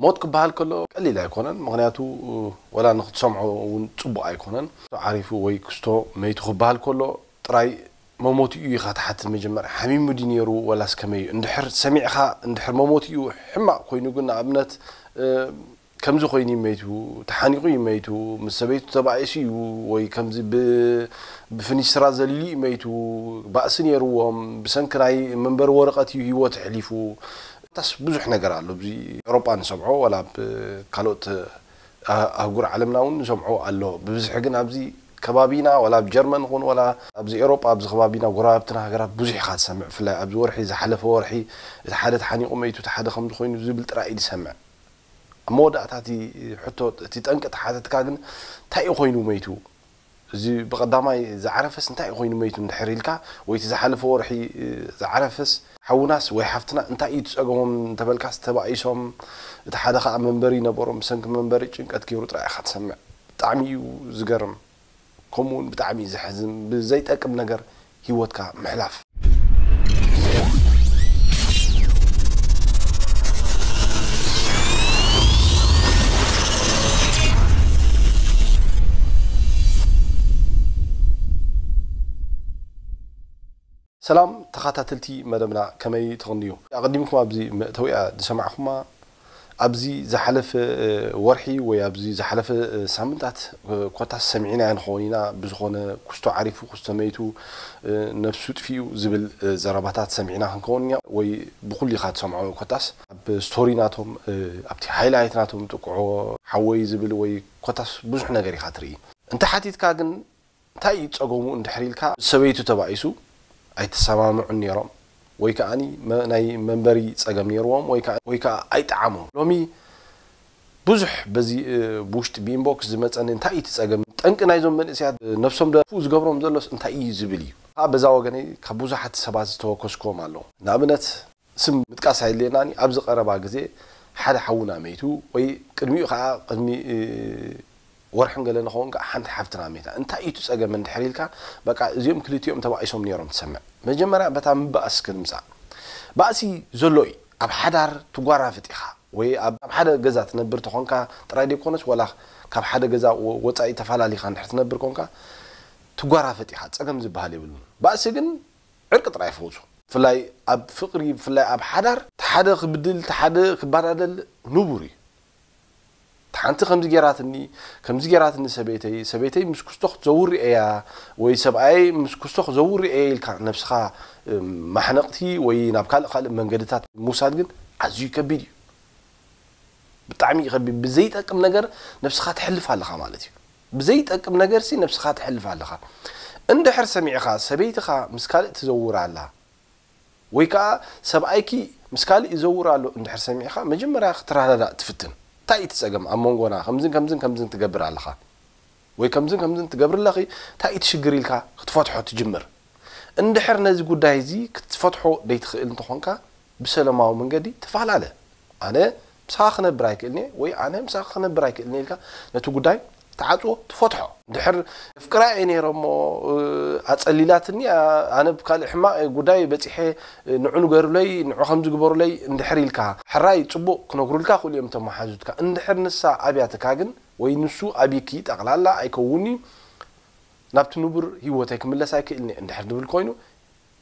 ሞት ክበሃል ከሎ ቀሊል ኣይኮነን። ምኽንያቱ ወላ ንክትሰምዖ እውን ጽቡቕ ኣይኮነን። ዓሪፉ ወይ ክስቶ መይቱ ክበሃል ከሎ ጥራይ መሞቲኡ ኢኻ ትሓትት። መጀመርያ ሓሚሙ ድዩ ነይሩ ወላስ ከመይ እዩ? እንድሕር ሰሚዕኻ፣ እንድሕር መሞቲኡ ሕማቕ ኮይኑ ግን፣ ንኣብነት ከምዚ ኮይኑ እዩ መይቱ፣ ተሓኒቑ እዩ መይቱ፣ ምስ ሰበይቱ ተባኢሱ እዩ፣ ወይ ከምዚ ብ- ብፍኒስትራ ዘሊሉ እዩ መይቱ፣ ባእሲ ነይርዎም፣ ብሰንኪ ናይ መንበሪ ወረቐት እዩ ህይወት ኣሕሊፉ። ታስ ብዙሕ ነገር ኣሎ። ኣብዚ ኤውሮጳ ንሰምዖ፣ ዋላ ኣብ ካልኦት ኣህ- ኣህጉር ዓለምና እውን ንሰምዖ ኣሎ። ብብዝሒ ግን ኣብዚ ከባቢና፣ ዋላ ኣብ ጀርመን ይኹን ዋላ ኣብዚ ኤውሮጳ፣ ኣብዚ ከባቢና፣ ጎረባብትና ሃገራት ብዙሕ ኢኻ ትሰምዕ። ብፍላይ ኣብዚ ወርሒ፣ ዝሓለፈ ወርሒ፣ እቲ ሓደ ተሓኒቑ መይቱ፣ እቲ ሓደ ከምዚ ኮይኑ ዝብል ጥራይ እዩ ዝሰምዕ። ኣብ መወዳእታ እቲ ሕቶ፣ እቲ ጠንቂ ተሓተትካ ግን፣ እንታይ እዩ ኮይኑ መይቱ? እዚ ብቐዳማይ ዝዓረፈስ እንታይ ኮይኑ መይቱ እንድሕር ኢልካ፣ ወይ እቲ ዝሓለፈ ወርሒ ዝዓረፈስ ሓውናስ ወይ ሓፍትና እንታይ እዩ ትጸገሞም እንተበልካስ፣ ተባኢሶም፣ እቲ ሓደ ኸኣ መንበሪ ነበሮም፣ ብሰንኪ መንበሪ ጭንቀት ገይሩ ጥራይ ኢኻ ትሰምዕ። ብጣዕሚ እዩ ዝገርም። ከምኡ እውን ብጣዕሚ እዩ ዘሕዝን፣ ብዘይጠቅም ነገር ህይወትካ ምሕላፍ። ሰላም ተኸታተልቲ መደብና፣ ከመይ ትቕንዩ? ኣቐዲምኩም ኣብዚ መእተዊኣ ዝሰማዕኹማ፣ ኣብዚ ዝሓለፈ ወርሒ ወይ ኣብዚ ዝሓለፈ ሳምንታት ኮታስ ሰሚዕናዮ ንኸውን ኢና። ብዝኾነ፣ ክስቶ ዓሪፉ፣ ክስቶ መይቱ፣ ነብሱ ጥፊኡ ዝብል ዘረባታት ሰሚዕና ክንከውን ኢና። ወይ ብኹሉ ኢኻ ትሰምዖ። ኮታስ ኣብ ስቶሪ ናቶም፣ ኣብቲ ሃይላይት ናቶም ጥቅዖ ሓወይ ዝብል ወይ ኮታስ ብዙሕ ነገር ኢኻ ትርኢ። እንተ ሓቲትካ ግን፣ እንታይ እዩ ጸገሙ እንድሕር ኢልካ፣ ሰበይቱ ተባኢሱ ኣይተሰማምዑን ነይሮም፣ ወይ ከኣኒ መ- ናይ መንበሪ ጸገም ነይርዎም፣ ወይ ከኣ- ወይ ከኣ ኣይጠዓሞም። ሎሚ ብዙሕ በዚ እ፣ ብውሽጢ ብኢንቦክስ ዝመጸኒ፣ እንታይ እዩ እቲ ጸገም? ጠንቂ ናይዞም መንእሰያት እ፣ ነብሶም ደፉ ዝገብሮም ዘሎስ እንታይ እዩ ዝብል እዩ። ከኣ በዛ ወገነይ ካብ ብዙሓት ሰባት ዝተወከስክዎም ኣለዉ። ንኣብነት፣ ስም ምጥቃስ ኣየድልየናን እዩ። ኣብዚ ቀረባ ግዜ ሓደ ሓውና መይቱ፣ ወይ ቅድሚኡ ከኣ ቅድሚ እ፣ ወርሕን ገለ ንኸውን ከኣ ሓንቲ ሓፍትና መይታ። እንታይ እዩ እቲ ጸገም እንድሕር ኢልካ፣ በቃ እዚኦም ክልቲኦም ተባኢሶም ነይሮም ትሰምዕ። መጀመርያ በታ ምባእስ ክንምጻእ። ባእሲ ዘሎ እዩ። ኣብ ሓዳር ትጓራፍጥ ኢኻ፣ ወይ ኣብ ኣብ ሓደ ገዛ ትነብር ተኾንካ ጥራይ ዘይኮነስ፣ ወላ ካብ ሓደ ገዛ ወ- ወጻኢ ተፈላሊኻ እንድሕር ትነብር ኮንካ ትጓራፍጥ ኢኻ። ጸገም ዝበሃል የብሉን። ባእሲ ግን ዕርቂ ጥራይ ፈውሱ። ብፍላይ ኣብ ፍቕሪ፣ ብፍላይ ኣብ ሓዳር፣ እቲ ሓደ ክብድል፣ እቲ ሓደ ክበዳደል ንቡር እዩ። እቲ ሓንቲ ከምዚ ጌራትኒ፣ ከምዚ ጌራትኒ ሰበይተይ፣ ሰበይተይ ምስ ክስቶ ክትዘውር እያ፣ ወይ ሰብኣየይ ምስ ክስቶ ክዘውር እየ ኢልካ ነብስኻ፣ እ፣ ማሕነቕቲ ወይ ናብ ካልእ ካልእ መንገድታት ምውሳድ ግን ኣዝዩ ከቢድ እዩ። ብጣዕሚ እዩ ከቢድ። ብዘይጠቅም ነገር ነብስኻ ተሕልፍ ኣለኻ ማለት እዩ። ብዘይጠቅም ነገር ሲ ነብስኻ ተሕልፍ ኣለኻ። እንድሕር ሰሚዕኻ ሰበይትኻ ምስ ካልእ ትዘውር ኣላ፣ ወይ ከኣ ሰብኣይኪ ምስ ካልእ ይዘውር ኣሎ እንድሕር ሰሚዕኻ፣ መጀመርያ ክትረዳዳእ ትፍትን። እንታይ እዩ እቲ ጸገም ኣብ መንጎና? ከምዝን ከምዝን ከምዝን ትገብር ኣለኻ፣ ወይ ከምዝን ከምዝን ትገብር ኣለኺ፣ እንታይ እዩ እቲ ሽግር ኢልካ ክትፈትሖ ትጅምር። እንድሕር ነዚ ጉዳይ እዚ ክትፈትሖ ደይትኽእል እንተኾንካ፣ ብሰለማዊ መንገዲ ተፈላለ። ኣነ ምሳኻ ክነብር ኣይክእልን'የ ወይ ኣነ ምሳኻ ክነብር ኣይክእልን'የ ኢልካ ነቲ ጉዳይ ትዓጽዎ፣ ትፈትሖ። እንድሕር የፍቅራ እየ ነይረ እሞ፣ እ፣ ኣጸሊላትኒ፣ ኣ-፣ ኣነ ብካልእ ሕማቕ ጉዳይ በጺሐ፣ እ፣ ንዑ ንገሩለይ፣ ንዑ ከምዚ ግበሩለይ እንድሕር ኢልካ፣ ሕራይ ጽቡቕ ክነግሩልካ ክእሉ እዮም እቶም መሓዙትካ። እንድሕር ንሳ ኣብያትካ ግን ወይ ንሱ ኣብይኪ፣ ጠቕላላ ኣይከውን'ዩ። ናብቲ ንቡር ህይወተይ ክምለስ ኣይክእልን እየ እንድሕር ዝብል ኮይኑ፣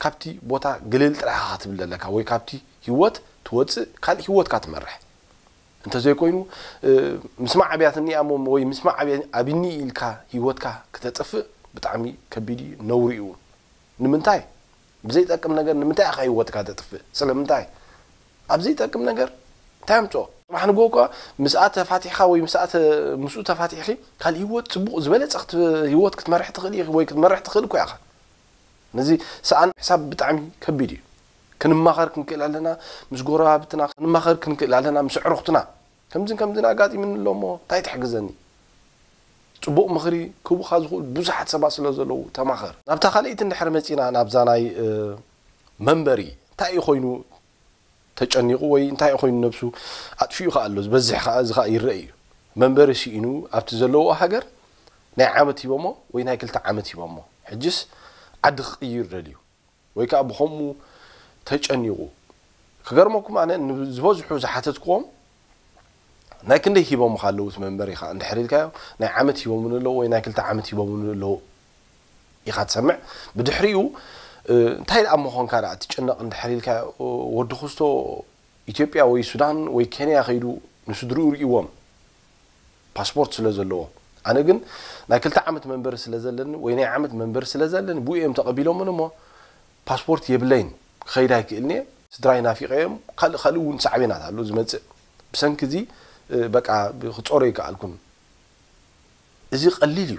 ካብቲ ቦታ ግልል ጥራይ ኢኻ ክትብል ዘለካ፣ ወይ ካብቲ ህይወት ትወጽእ፣ ካልእ ህይወትካ ትመርሕ። እንተዘይኮይኑ፣ እ፣ ምስማዕ ኣብያትኒ እያ እሞ፣ ወይ ምስማዕ ኣብያ- ኣብኒ ኢልካ ህይወትካ ክተጥፍእ ብጣዕሚ ከቢድ እዩ፣ ነውሪ እዩ። ንምንታይ? ብዘይጠቅም ነገር ንምንታይ ኢኻ ህይወትካ ተጥፍእ? ስለምንታይ? ኣብ ዘይጠቅም ነገር እንታይ ኣምጽኦ? ጽባሕ ንግሆ እኳ ምስኣ ተፋቲሕካ ወይ ምስኣ ተ- ምስኡ ተፋቲሕኺ ካልእ ህይወት ጽቡቕ ዝበለጸ ክት- ህይወት ክትመርሕ ትኽእል ኢኺ ወይ ክትመርሕ ትኽእል እኮ ኢኻ። ነዚ ሰኣን ሕሳብ ብጣዕሚ ከቢድ እዩ። ክንማኸር ክንክእል ኣለና፣ ምስ ጎረባብትና ክንማኸር ክንክእል ኣለና፣ ምስ ኣዕሩኽትና። ከምዝን ከምዝን ኣጋጢሙኒ ኣሎ እሞ እንታይ ትሕግዘኒ? ጽቡቕ ምኽሪ ክህቡኻ ዝኽእሉ ብዙሓት ሰባት ስለ ዘለዉ ተማኸር። ናብታ ካልኣይቲ እንድሕር መጺና፣ ናብዛ ናይ እ፣ መንበሪ እንታይ እዩ ኮይኑ ተጨኒቑ ወይ እንታይ ኮይኑ ነብሱ ኣጥፊኡ ከኣ ኣሎ፣ ዝበዝሕ ከኣ እዚ ከኣ ይረአ እዩ። መንበሪ ስኢኑ ኣብቲ ዘለዎ ሃገር ናይ ዓመት ሂቦሞ ወይ ናይ ክልተ ዓመት ሂቦሞ፣ ሕጅስ ዓዲ ክቕይር ደልዩ ወይ ከኣ ብኸምኡ ተጨኒቑ። ክገርመኩም ኣነ ንዝበዝሑ ዝሓተትክዎም ናይ ክንደይ ሂቦምኻ ኣለዉ እቲ መንበሪኻ እንድሕር ኢልካዮ፣ ናይ ዓመት ሂቦምኒ ኣለዉ ወይ ናይ ክልተ ዓመት ሂቦምኒ ኣለዉ ኢኻ ትሰምዕ። ብድሕሪኡ እንታይ ደኣ ምኾንካ ደኣ ትጭነቕ እንድሕር ኢልካዮ፣ ወዲ ክስቶ ኢትዮጵያ ወይ ሱዳን ወይ ኬንያ ከይዱ ንስድርኡ ርእይዎም ፓስፖርት ስለ ዘለዎ። ኣነ ግን ናይ ክልተ ዓመት መንበሪ ስለ ዘለኒ ወይ ናይ ዓመት መንበሪ ስለ ዘለኒ ብኡ እዮም ተቐቢሎምን እሞ ፓስፖርት የብለይን ክኸይድ ኣይክእልን እየ። ስድራይ ናፊቐዮም ካልእ ካልእ እውን ሳዕቤናት ኣሎ ዝመፅእ ብሰንኪ እዚ በቃ ክፀሮ ይከኣልኩን። እዚ ቀሊል እዩ።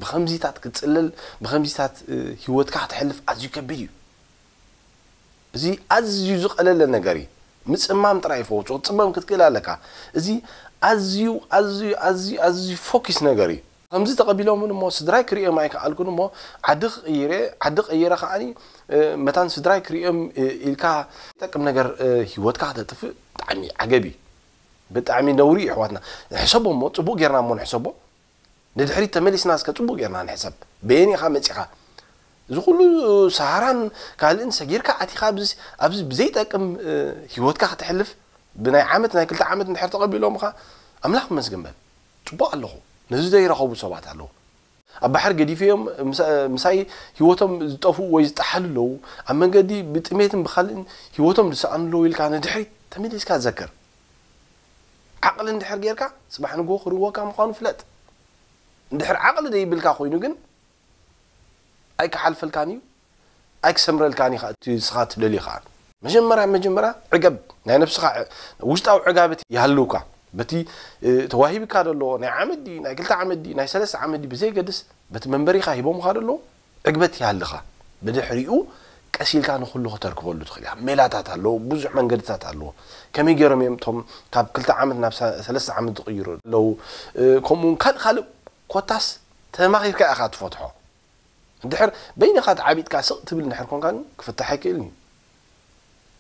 ብኸምዚታት ክትፅለል ብኸምዚታት ህይወትካ ክተሕልፍ ኣዝዩ ከቢድ እዩ። እዚ ኣዝዩ ዝቐለለ ነገር እዩ። ምፅማም ጥራይ ይፈውሱ ክትፅመም ክትክእል ኣለካ። እዚ ኣዝዩ ኣዝዩ ኣዝዩ ኣዝዩ ፎኪስ ነገር እዩ። ከምዚ ተቐቢሎምን እሞ ስድራይ ክርእዮም ኣይከኣልኩን እሞ ዓዲ ክቕይረ ዓዲ ቀይረ ከዓኒ መታን ስድራይ ክርእዮም ኢልካ ጠቅም ነገር ህይወትካ ክተጥፍእ ብጣዕሚ ዓገብ እዩ። ብጣዕሚ ነውሪ እዩ ኣሕዋትና። ንሕሰቦ እሞ ፅቡቅ ጌርና እሞ ንሕሰቦ። ንድሕሪት ተመሊስና እስከ ፅቡቅ ጌርና ንሕሰብ። በየን ኢኻ መፂኻ? እዚ ኩሉ ሰሃራን ካልእን ሰጊርካ ኣቲኻ ኣብዚ ኣብዚ ብዘይጠቅም ህይወትካ ከተሕልፍ ብናይ ዓመት ናይ ክልተ ዓመት እንድሕር ተቐቢሎምኻ ኣምላኽ ይመስገን በል። ፅቡቅ ኣለኹ። ነዚ ዘይረኸቡ ሰባት ኣለዉ። ኣብ ባሕሪ ገዲፈዮም ምሳይ ህይወቶም ዝጠፍኡ ወይ ዝጠሓሉ ኣለዉ። ኣብ መንገዲ ብጥሜትን ብኻልእን ህይወቶም ዝሰኣኑ ኣለዉ ኢልካ ንድሕሪት ተመሊስካ ዘክር። ዓቕሊ እንድሕር ጌርካ ጽባሕ ንግሆ ክርወካ ምዃኑ ፍለጥ። እንድሕር ዓቕሊ ዘይብልካ ኮይኑ ግን ኣይክሓልፈልካን እዩ ኣይክሰምረልካን እዩ እቲ ንስኻ ትደልዮ ከዓ። መጀመርያ መጀመርያ ዕገብ ናይ ነብስኻ ውሽጣዊ ዕጋበት ይሃልውካ። በቲ ተዋሂብካ ዘሎ ናይ ዓመት ድዩ ናይ ክልተ ዓመት ድዩ ናይ ሰለስተ ዓመት ድዩ ብዘይገድስ በቲ መንበሪኻ ሂቦምኻ ዘለዉ ዕግበት ይሃልኻ። ብድሕሪኡ ቀስ ኢልካ ንኹሉ ከተርክበሉ ትኽእል ኢኻ። ሜላታት ኣለዉ፣ ብዙሕ መንገድታት ኣለዉ። ከመይ ገይሮም እዮም እቶም ካብ ክልተ ዓመት ናብ ሰለስተ ዓመት ዝቕይሩ ኣለዉ። ከምኡ እውን ካልእ ካልእ ኮታስ ተማኺርካ ኢኻ ትፈትሖ። እንድሕር በይንኻ ተዓቢጥካ ስቕ ትብል እንድሕር ኮንካ ግን ክፍታሕ ኣይክእልን እዩ።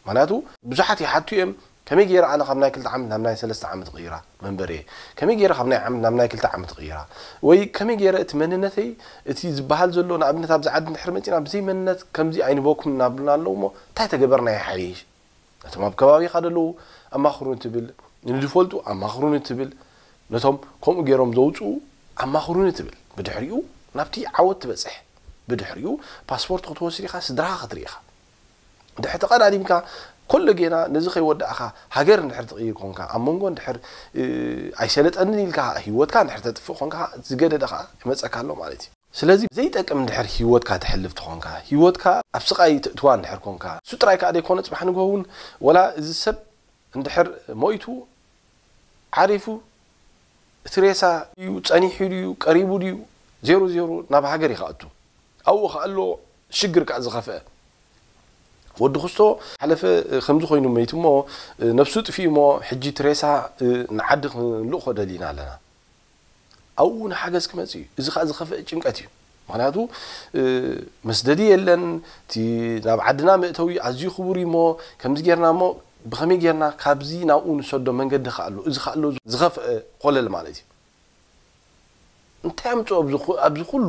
ምክንያቱ ብዙሓት ይሓቱ እዮም፣ ከመይ ገይረ ኣነ ካብ ናይ ክልተ ዓመት ናብ ናይ ሰለስተ ዓመት ቕይራ መንበሪየ? ከመይ ገይረ ካብ ናይ ዓመት ናብ ናይ ክልተ ዓመት ቕይራ? ወይ ከመይ ገይረ እቲ መንነተይ እቲ ዝበሃል ዘሎ ንኣብነት ኣብዚ ዓዲ እንድሕር መፂና ብዘይ መንነት ከምዚ ኣይንበኩም እናብሉና ኣለዉ እሞ እንታይ ተገበርና ይሓይሽ? ነቶም ኣብ ከባቢኻ ዘለዉ ኣማኽሩኒ ትብል፣ ንዝፈልጡ ኣማኽሩኒ ትብል፣ ነቶም ከምኡ ገይሮም ዘውፅኡ ኣማኽሩኒ ትብል። ብድሕሪኡ ናብቲ ዓወት ትበፅሕ። ብድሕሪኡ ፓስፖርት ክትወስድ ኢኻ፣ ስድራኻ ክትርኢ ኢኻ። ድሕር ተቐዳዲምካ ኮሎ ጌና ነዚ ከይወዳእኻ ሃገር እንድሕር ትቕይር ኮንካ ኣብ መንጎ እንድሕር ኣይሰለጠንን ኢልካ ህይወትካ እንድሕር ተጥፍእ ኮንካ ዝገደደ ከዓ ይመፀካ ኣሎ ማለት እዩ። ስለዚ ዘይጠቅም እንድሕር ህይወትካ ተሕልፍ ተኾንካ ህይወትካ ኣብ ስቓይ ተእትዋ እንድሕር ኮንካ እሱ ጥራይ ከዓ ዘይኮነ ፅባሕ ንግሆ እውን ወላ እዚ ሰብ እንድሕር ሞይቱ ዓሪፉ እቲ ሬሳ ድዩ ፀኒሑ ድዩ ቀሪቡ ድዩ ዜሮ ዜሮ ናብ ሃገር እዩ ከእቱ ኣብኡ ከኣሎ ሽግር ከዓ ዝኸፍአ ወዲ ክስቶ ሓለፈ ከምዚ ኮይኑ መይቱ እሞ ነብሱ ጥፊኡ እሞ ሕጂ ትሬሳ ንዓዲ ክንልእኮ ደሊና ኣለና ኣብኡ ንሓገዝ ክመፅ እዩ እዚ ከዓ ዝኸፍአ ጭንቀት እዩ ምክንያቱ መስደዲ የለን እቲ ናብ ዓድና መእተዊ ኣዝዩ ክቡር እዩ እሞ ከምዚ ጌርና እሞ ብኸመይ ጌርና ካብዚ ናብኡ ንሰዶ መንገዲ ከኣሎ እዚ ከኣሎ ዝኸፍአ ኮለል ማለት እዩ እንታይ ኣምፅኦ ኣብዚ ኩሉ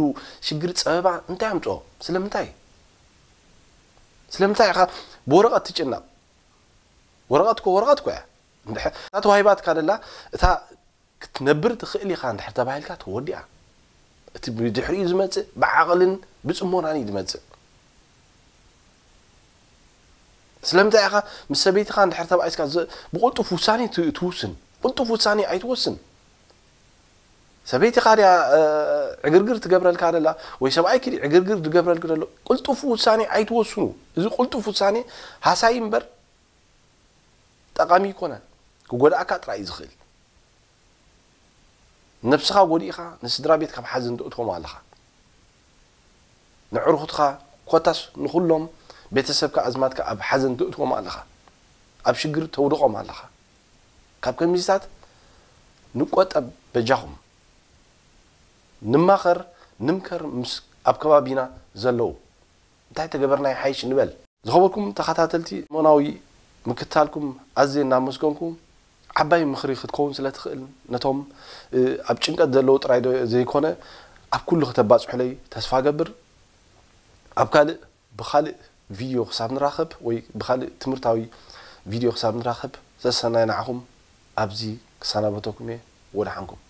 ሽግር ፀበባ እንታይ ኣምፅኦ ስለምንታይ ስለምንታይ ኢኻ ብወረቐት ትጭነቕ ወረቐት ኮ ወረቐት ኮ እያ እንድሕር እታ ተዋሂባትካ ደላ እታ ክትነብር ትኽእል ኢኻ እንድሕር ተባሂልካ ተወዲኣ እቲ ብድሕሪኡ ዝመፅእ ብዓቕልን ብፅሞናን እዩ ዝመፅእ ስለምንታይ ኢኻ ምስ ሰበይትኻ እንድሕር ተባኢስካ ብቕልጡፍ ውሳኔ ትውስን ቅልጡፍ ውሳኔ ኣይትወስን ሰበይትኻ ድያ ዕግርግር ትገብረልካ ደላ ወይ ሰብኣይኪ ዕግርግር ዝገብረልክ ዘሎ ቅልጡፍ ውሳኔ ኣይትወስኑ እዚ ቅልጡፍ ውሳኔ ሃሳይ እምበር ጠቓሚ ይኮነን ክጎድኣካ ጥራይ እዩ ዝኽእል ነብስኻ ጎዲእኻ ንስድራ ቤት ካብ ሓዘን ተእትዎም ኣለኻ ንዕርኹትኻ ኮታስ ንኹሎም ቤተሰብካ ኣዝማድካ ኣብ ሓዘን ተእትዎም ኣለኻ ኣብ ሽግር ተውድቖም ኣለኻ ካብ ከሚዝታት ንቆጠብ በጃኹም ንማኸር ንምከር ምስ ኣብ ከባቢና ዘለዉ እንታይ ተገበርና ይሓይሽ ንበል ዝኸበርኩም ተኸታተልቲ ሞናዊ ምክታልኩም ኣዝየ እናመስገንኩ ዓባይ ምኽሪ ክትከውን ስለ ትኽእል ነቶም ኣብ ጭንቀት ዘለዉ ጥራይ ዘይኮነ ኣብ ኩሉ ከተባፅሑለይ ተስፋ ገብር ኣብ ካልእ ብኻልእ ቪድዮ ክሳብ ንራኸብ ወይ ብኻልእ ትምህርታዊ ቪድዮ ክሳብ ንራኸብ ሰሰናይ ንዓኹም ኣብዚ ክሰናበተኩም እየ። ወደ ሓንኩም።